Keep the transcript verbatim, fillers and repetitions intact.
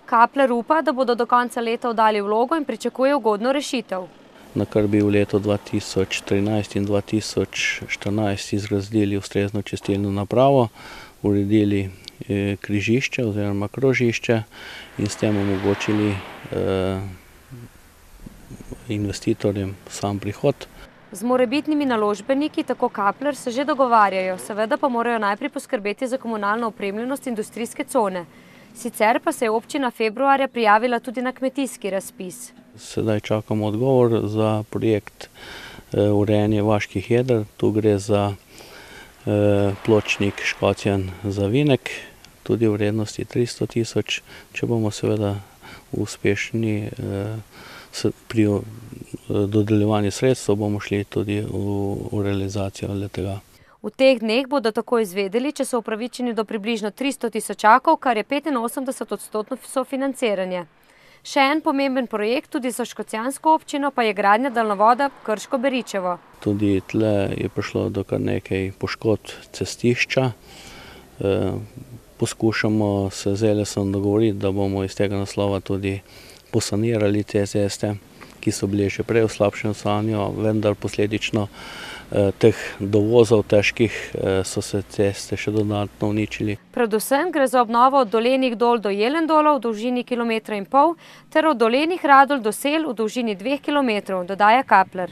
Kapler upa, da bodo do konca leta oddali vlogo in pričakuje ugodno rešitev. Na kar bi v letu dva tisoč trinajst in dva tisoč štirinajst izgradili ustrezno čistilno napravo, uredili križišče oziroma krožišče in s tem omogočili investitorjem sam prihod. Z morebitnimi naložbeniki, tako Kapler, se že dogovarjajo, seveda pa morajo najprej poskrbeti za komunalno opremljenost industrijske cone. Sicer pa se je občina februarja prijavila tudi na kmetijski razpis. Sedaj čakamo odgovor za projekt urejanja vaških jeder. Tu gre za pločnik Škocjan-Zavinek, tudi v vrednosti tristo tisoč. Če bomo seveda uspešni pri dodeljevanju sredstev, bomo šli tudi v realizacijo le-tega. V teh dneh bodo tako izvedeli, če so upravičeni do približno tristo tisočakov, kar je petinosemdeset odstotno sofinanciranje. Še en pomemben projekt tudi za škocjansko občino pa je gradnja daljnovoda Krško-Beričevo. Tudi tle je prišlo do kar nekaj poškodb cestišča. Poskušamo se z Elesom dogovoriti, da bomo iz tega naslova tudi posanirali te ceste, ki so bile že prej v slabšem stanju, vendar posledično teh dovozov težkih so se ceste še dodatno uničili. Predvsem gre za obnovo od Dolenjih dol do Jelendolov v dolžini kilometra in pol ter od Dolenjih Radolj do Sel v dolžini dveh kilometrov, dodaja Kapler.